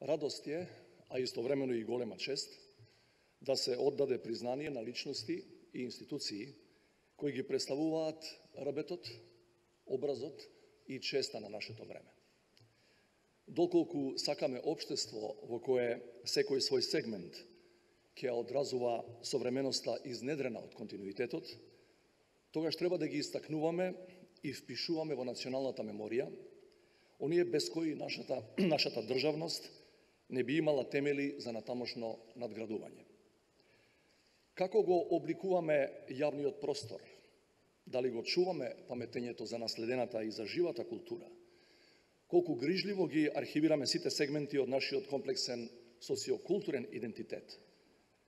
Радост е, а истовремено и голема чест, да се оддаде признание на личности и институции кои ги представуваат работот, образот и честа на нашето време. Доколку сакаме општество во кое секој свој сегмент ќе одразува современоста изнедрена од континуитетот, тогаш треба да ги истакнуваме и впишуваме во националната меморија оние без кои нашата државност не би имала темели за натамошно надградување. Како го обликуваме јавниот простор? Дали го чуваме паметењето за наследената и за живата култура? Колку грижливо ги архивираме сите сегменти од нашиот комплексен социокултурен идентитет?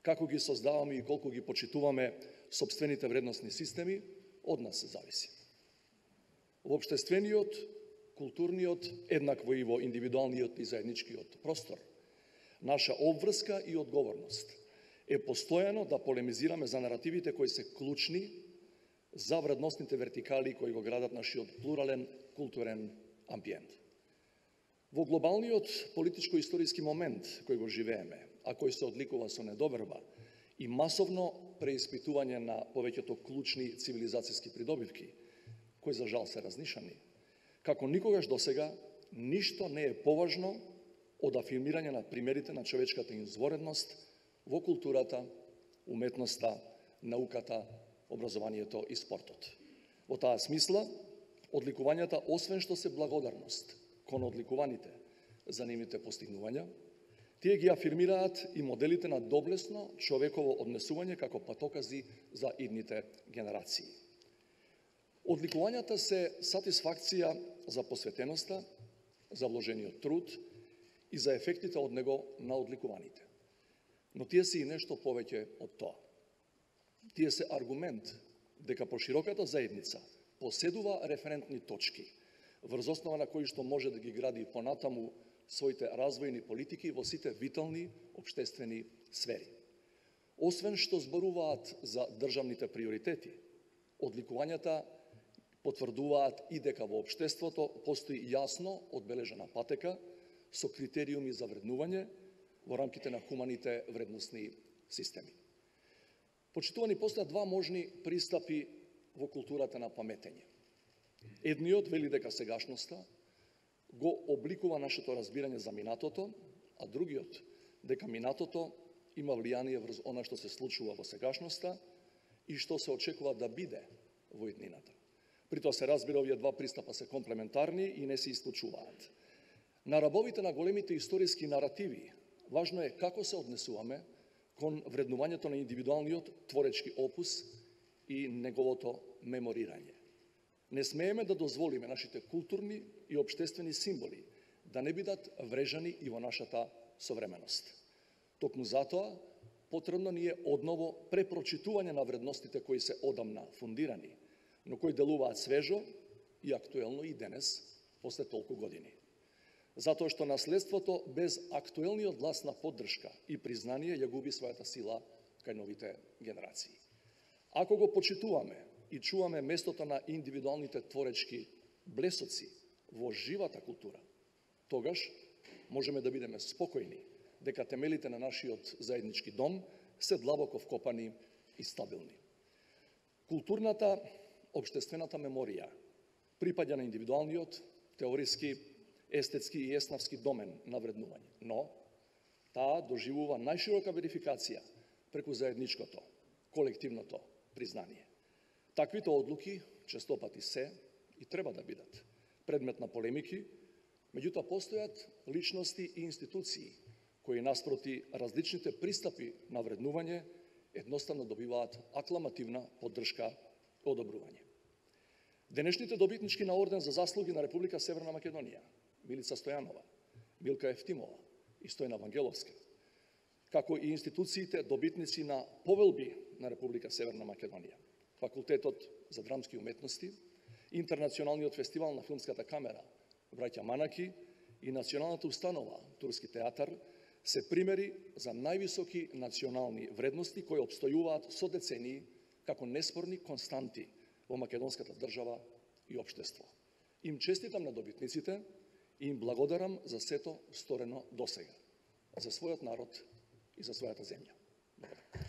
Како ги создаваме и колку ги почитуваме сопствените вредносни системи, од нас се зависи. Во општествениот, културниот, еднакво и во индивидуалниот и заедничкиот простор, наша обврска и одговорност е постојано да полемизираме за наративите кои се клучни за вредносните вертикали кои го градат нашиот плурален културен амбиент. Во глобалниот политичко-историски момент кој го живееме, а кој се одликува со недоверба и масовно преиспитување на повеќето клучни цивилизацијски придобивки, кои за жал се разнишани, како никогаш досега, ништо не е поважно од афирмирање на примерите на човечката изворедност во културата, уметноста, науката, образованието и спортот. Во таа смисла, одликувањата, освен што се благодарност кон одликуваните за нивните постигнувања, тие ги афирмираат и моделите на доблесно човеково однесување како патокази за идните генерации. Одликувањата се сатисфакција за посветеноста, за вложениот труд и за ефектите од него на одликуваните. Но тие се и нешто повеќе од тоа. Тие се аргумент дека пошироката заедница поседува референтни точки, врз основа на кои што може да ги гради понатаму своите развојни политики во сите витални општествени сфери. Освен што зборуваат за државните приоритети, одликувањата потврдуваат и дека во општеството постои јасно одбележана патека со критериуми за вреднување во рамките на хуманите вредносни системи. Почитувани, постојат два можни пристапи во културата на паметење. Едниот вели дека сегашноста го обликува нашето разбирање за минатото, а другиот дека минатото има влијание врз она што се случува во сегашноста и што се очекува да биде во иднината. При тоа се разбира, овие два пристапа се комплементарни и не се исклучуваат. На рабовите на големите историски наративи важно е како се однесуваме кон вреднувањето на индивидуалниот творечки опус и неговото меморирање. Не смееме да дозволиме нашите културни и општествени символи да не бидат врежани и во нашата современост. Токму затоа, потребно ни е одново препрочитување на вредностите кои се одамна фундирани, но кои делуваат свежо и актуелно и денес, после толку години. Затоа што наследството без актуелниот глас на поддршка и признание ја губи својата сила кај новите генерации. Ако го почитуваме и чуваме местото на индивидуалните творечки блесоци во живата култура, тогаш можеме да бидеме спокојни дека темелите на нашиот заеднички дом се длабоко вкопани и стабилни. Културната, општествената меморија припаѓа на индивидуалниот, теориски, естетски и еснавски домен на вреднување, но таа доживува најширока верификација преку заедничкото, колективното признание. Таквите одлуки честопати се и треба да бидат предмет на полемики, меѓутоа постојат личности и институции кои наспроти различните пристапи на вреднување едноставно добиваат акламативна поддршка и одобрување. Денешните добитнички на орден за заслуги на Република Северна Македонија, Милица Стојанова, Милка Ефтимова и Стојна Вангеловска, како и институциите добитници на повелби на Република Северна Македонија, Факултетот за драмски уметности, Интернационалниот фестивал на филмската камера Браќа Манаки и Националната установа Турски театар се примери за највисоки национални вредности кои обстојуваат со децении како неспорни константи во македонската држава и општество. Им честитам на добитниците и им благодарам за сето сторено досега. за својот народ и за својата земја. Благодарам.